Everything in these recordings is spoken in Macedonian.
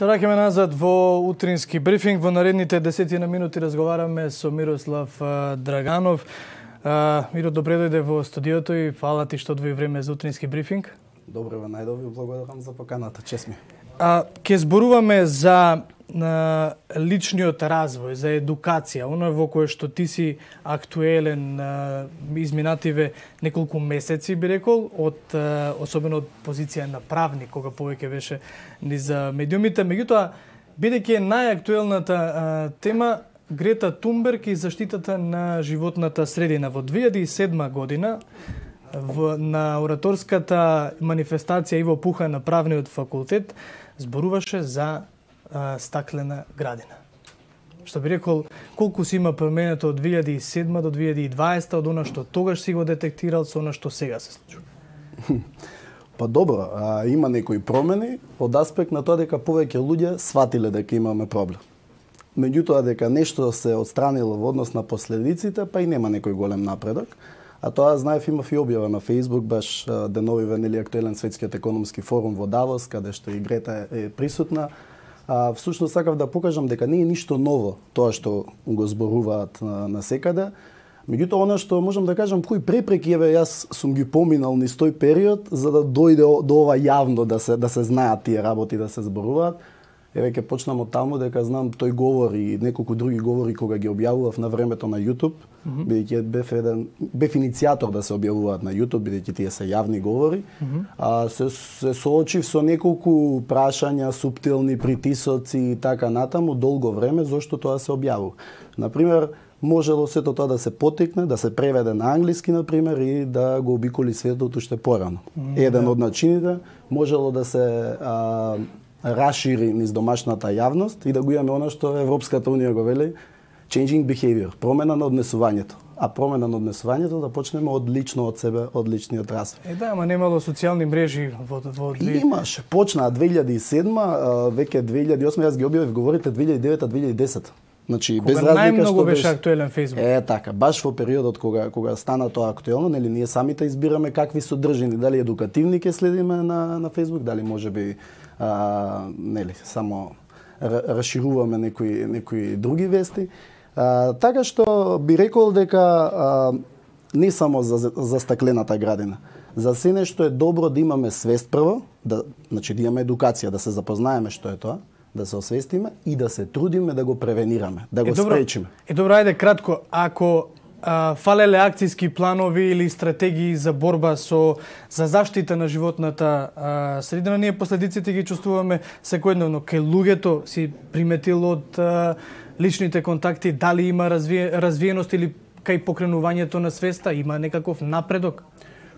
Се враќаме назад во утрински брифинг. Во наредните 10 минути разговараме со Мирослав Драганов. Миро, добре дојде во студиото и фала ти што одвои време за утрински брифинг. Добре, најдови, благодарам за поканата, чест ми. Ке зборуваме за личниот развој, за едукација, оно во кое што ти си актуелен изминативе неколку месеци, би рекол, особено од позиција на правник, кога повеќе беше низ медиумите. Меѓутоа, бидејќи е најактуелната тема, Грета Тунберг и заштитата на животната средина. Во 2007 година, на ораторската манифестација Иво Пуха на Правниот факултет, зборуваше за стаклена градина. Што би рекол, колку си има променето од 2007 до 2020, од она што тогаш си го детектирал со она што сега се случува? Па добро, има некои промени од аспект на тоа дека повеќе луѓе сватиле дека имаме проблем. Меѓутоа дека нешто се отстранило во однос на последиците, па и нема некој голем напредок. А тоа знаев, имав и објава на Facebook, баш деновиве нели актуелен светскиот економски форум во Давос, каде што и Грета е присутна. Всушност сакав да покажам дека не е ништо ново тоа што го зборуваат на секаде. Меѓутоа, она што можам да кажам, кои препреки јас сум ги поминал низ тој период за да дојде до ова јавно да се знаат тие работи, да се зборуваат. Ќе почнам од таму дека знам тој говор и неколку други говори кога ги објавував на времето на YouTube, бидејќи бев иницијатор да се објавуваат на YouTube, бидејќи тие се јавни говори. Се соочив со неколку прашања, суптилни притисоци и така натаму долго време зошто тоа се објавува. Например, можело сето тоа да се потекне, да се преведе на англиски, например, и да го обиколи светот уште порано. Еден од начините можело да се расшири низ домашната јавност и да го имаме она што Европската унија го вели changing behavior, промена на однесувањето. А промена на однесувањето да почнеме од лично од себе, од личниот развој. Да, ама немало социјални мрежи во Имаше, почнаа 2007, веќе 2008, јас ги објавив говорите 2009-2010. Значи без разлика најмногу беше актуелен Facebook. Така, баш во периодот кога стана тоа актуелно, нели ние самите избираме какви содржини, дали едукативни ќе следиме на Facebook, дали можеби нели само расшируваме некои други вести. Така што би рекол дека не само за стаклената градина. За се нешто е добро да имаме свест прво, значи да имаме едукација, да се запознаеме што е тоа, да се освестиме и да се трудиме да го превенираме, да го спречиме. Добро, ајде кратко, ако фалеле акцијски планови или стратегии за борба за заштита на животната средина, ние последиците ги чувствуваме секојдневно. Кај луѓето си приметил од личните контакти, дали има развиеност или кај покренувањето на свеста, има некаков напредок?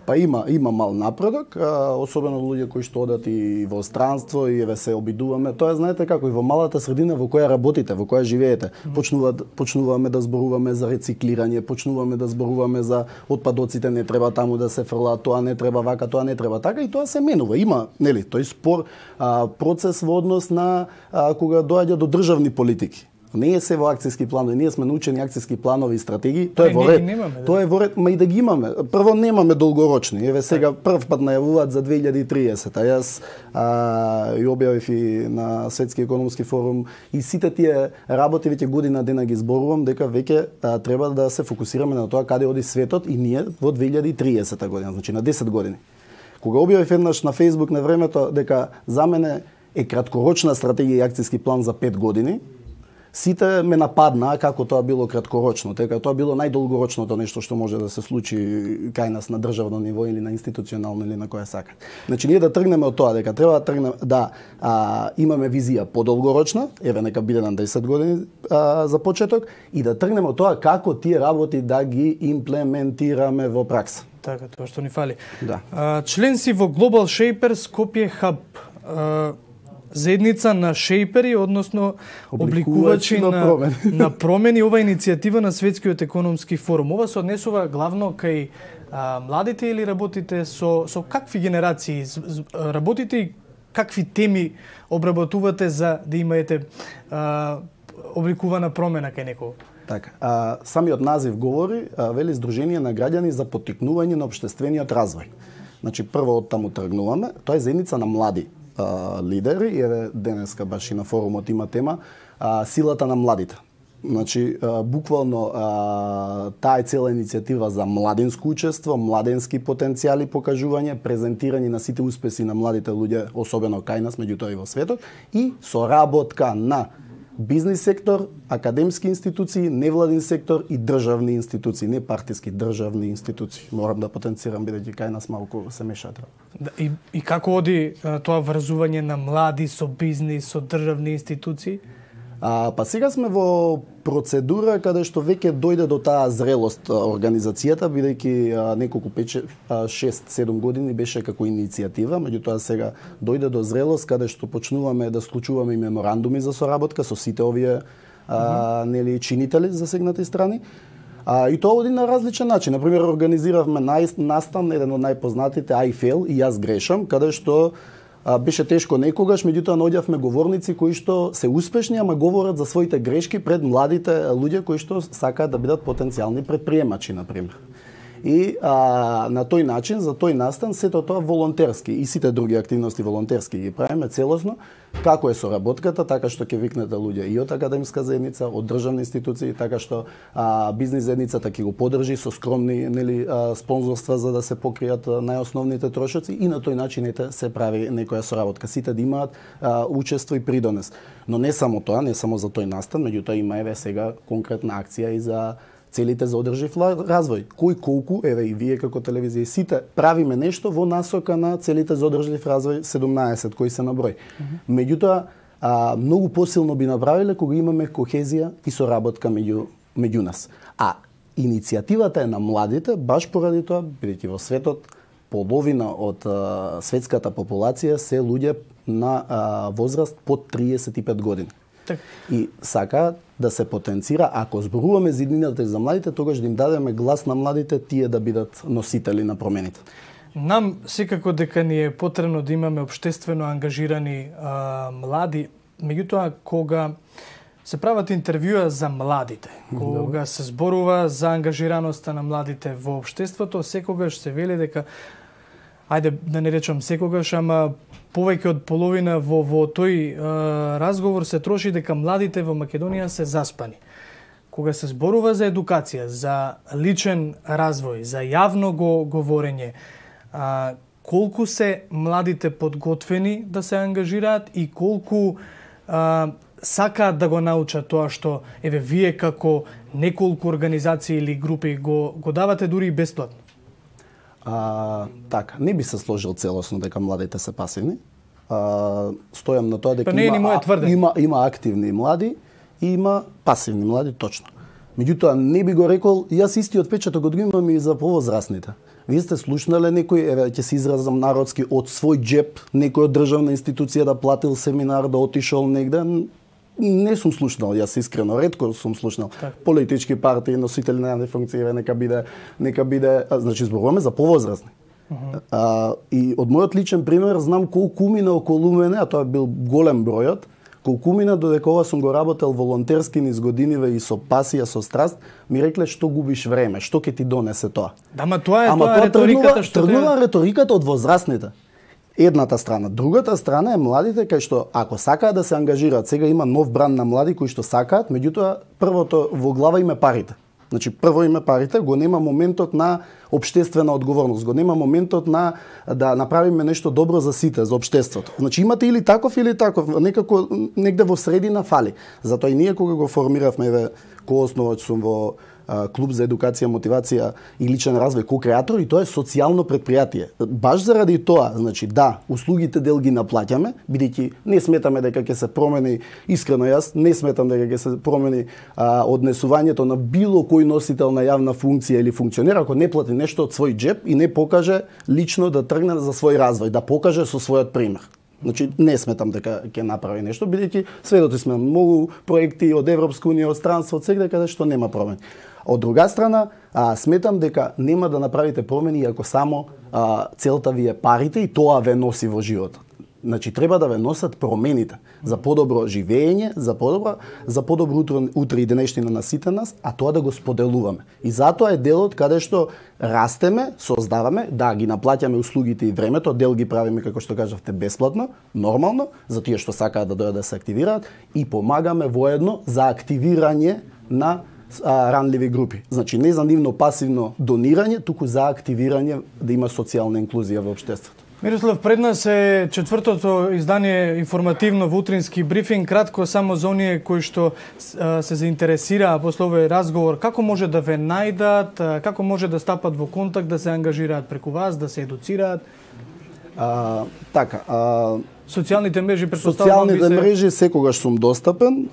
Па има мал напредок, особено луѓе кои што одат и во странство и се обидуваме. Тоа знаете како и во малата средина во која работите, во која живеете. Почнуваме да зборуваме за рециклирање, почнуваме да зборуваме за отпадоците, не треба таму да се фрлаат, тоа не треба вака, тоа не треба така и тоа се менува. Има, нели, тој спор процес во однос на кога доаѓа до државни политики. Не е се во акцијски планови, ние сме научени акцијски планови и стратегии, тоа е во ред. Тоа е во ред, ма и да ги имаме. Прво немаме долгорочни. Еве сега прв пат најавуваат за 2030. Јас и објавив и на Светски економски форум и сите тие работи веќе година дена ги зборувам дека веќе треба да се фокусираме на тоа каде оди светот и ние во 2030 година, значи на 10 години. Кога објавив еднаш на Facebook на времето дека за мене е краткорочна стратегија и акцијски план за 5 години, сите ме нападнаа како тоа било краткорочно, дека тоа било најдолгорочното нешто што може да се случи кај нас на државно ниво или на институционално или на која сака. Значи ние да тргнеме од тоа дека треба да тргнеме имаме визија подолгорочна, еве нека биде на 10 години за почеток и да тргнеме од тоа како тие работи да ги имплементираме во пракса. Така, тоа што ни фали. Да. Член си во Global Shapers Skopje Hub. Заедница на шејпери, односно обликувачи на промени, ова иницијатива на Светскиот економски форум. Ова се однесува главно кај младите или работите со какви генерации работите и какви теми обработувате за да имаете обликувана промена кај некого? Така, самиот назив говори, вели Сдружение на граѓани за поттикнување на општествениот развој. Значи прво од таму тргнуваме, тоа е заедница на млади. лидери, еве денеска баш и на форумот има тема силата на младите. Значи, буквално таа е цела иницијатива за младинско учество, младенски потенцијали, покажување, презентирање на сите успеси на младите луѓе, особено кај нас, меѓутоа и во светот, и соработка на бизнис сектор, академски институции, невладин сектор и државни институции, не партиски, државни институции. Морам да потенцирам бидејќи кај нас малку се мешаат. Да, и како оди тоа врзување на млади со бизнис, со државни институции? Па сега сме во процедура каде што веќе дојде до таа зрелост организацијата, бидејќи неколку 6-7 години беше како иницијатива, меѓутоа сега дојде до зрелост каде што почнуваме да склучуваме и меморандуми за соработка со сите овие нели чинители засегнати страни. И тоа оди на различен начин. Например, организиравме настан, еден од најпознатите, I fail и јас грешам, каде што беше тешко некогаш, меѓутоа наоѓавме говорници кои што се успешни, ама говорат за своите грешки пред младите луѓе кои што сакаат да бидат потенцијални претприемачи, например. И на тој начин, за тој настан, сето тоа волонтерски и сите други активности волонтерски ги правиме целосно, како е соработката, така што ќе викнете луѓе и од академска заедница, од државни институции, така што бизнис заедницата ќе го подржи со скромни спонзорства за да се покријат најосновните трошоци и на тој начин се прави некоја соработка. Сите да имаат учество и придонес. Но не само тоа, не само за тој настан, меѓутоа има еве сега конкретна акција и за целите за одржив развој. Кој колку, еве и вие како телевизија, сите правиме нешто во насока на целите за одржив развој 17 кои се на број. Меѓутоа, многу посилно би направиле кога имаме кохезија и соработка меѓу нас. А иницијативата е на младите, баш поради тоа, бидејќи во светот половина од светската популација се луѓе на возраст под 35 години. Так. И сака да се потенцира, ако зборуваме за иднината за младите, тогаш да им дадеме глас на младите, тие да бидат носители на промените. Нам секако дека ни е потребно да имаме општествено ангажирани млади, меѓутоа кога се прават интервјуа за младите, кога се зборува за ангажираноста на младите во општеството, секогаш се вели дека, ајде да не речам секогаш, ама повеќе од половина во тој разговор се троши дека младите во Македонија се заспани. Кога се зборува за едукација, за личен развој, за јавно говорење, колку се младите подготвени да се ангажираат и колку сакаат да го научат тоа што еве вие како неколку организации или групи го давате дури и бесплатно? Така, не би се сложил целосно дека младите се пасивни. Стојам на тоа дека има активни млади и има пасивни млади, точно. Меѓутоа, не би го рекол, јас истиот печаток го имам и за повозрастните. Вие сте слушнале некој, еве ќе се изразам народски, од свој джеп, некој од државна институција да платил семинар, да отишол негде? Не сум слушнал, јас искрено, ретко сум слушнал. Политички партии, носители на јавни функции, нека биде, значи зборуваме за повозрастни. И од мојот личен пример знам колку мина околу мене, а тоа бил голем бројот, колку мина додека ова сум го работел волонтерски низ годиниве и со пасија, со страст, ми рекле што губиш време, што ќе ти донесе тоа. Ама тоа е реториката што тргнува рториката од возрастните. Едната страна. Другата страна е младите кај што ако сакаат да се ангажираат, сега има нов бран на млади кои што сакаат, меѓутоа првото во глава им е парите. Значи прво име парите, го нема моментот на општествена одговорност, го нема моментот на да направиме нешто добро за сите, за општеството. Значи имате или таков, некако негде во средина фали. Затоа и ние кога го формиравме, еве, коосновач сум во клуб за едукација, мотивација и личен развој, ко-креатор, и тоа е социјално предпријатие. Баш заради тоа, значи да, услугите дел ги наплаќаме, бидејќи не сметаме дека ќе се промени, искрено јас не сметам дека ќе се промени однесувањето на било кој носител на јавна функција или функционер ако не плати нешто од свој джеб и не покаже лично да тргне за свој развој, да покаже со својот пример. Значи, не сметам дека ќе направи нешто, бидејќи сведоци сме многу проекти од Европска унија, од странство, од сегде каде што нема промени. Од друга страна, сметам дека нема да направите промени ако само целта ви е парите и тоа ве носи во животот. Значи треба да ве носат промените за подобро живење, за подобро утро и денешнина на сите нас, а тоа да го споделуваме. И затоа е делот каде што растеме, создаваме, да ги наплаќаме услугите и времето, дел ги правиме како што кажавте бесплатно, нормално, за тие што сакаат да дојдат да се активираат и помагаме воедно за активирање на ранливи групи. Значи не за нивно пасивно донирање, туку за активирање да има социјална инклузија во општеството. Мирослав, пред нас е четвртото издание информативно во утрински брифинг. Кратко само за оние кои што се заинтересираа после овој разговор, како може да ве најдат, како може да стапат во контакт, да се ангажираат преку вас, да се едуцираат? Социјалните мрежи, претпоставувам, мрежи секогаш сум достапен,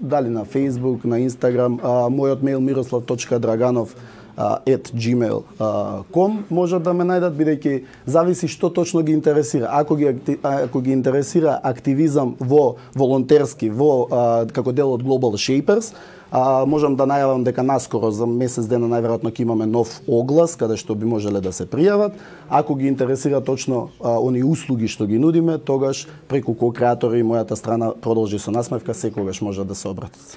дали на Facebook, на Instagram, мојот мејл miroslav.draganov@gmail.com може да ме најдат, бидејќи зависи што точно ги интересира. Ако ги интересира активизам во волонтерски, како дел од Global Shapers, можам да најавам дека наскоро за месец дена најверојатно ќе имаме нов оглас каде што би можеле да се пријават. Ако ги интересира точно они услуги што ги нудиме, тогаш преку ко-креатори и мојата страна продолжи со насмевка секогаш може да се обратат.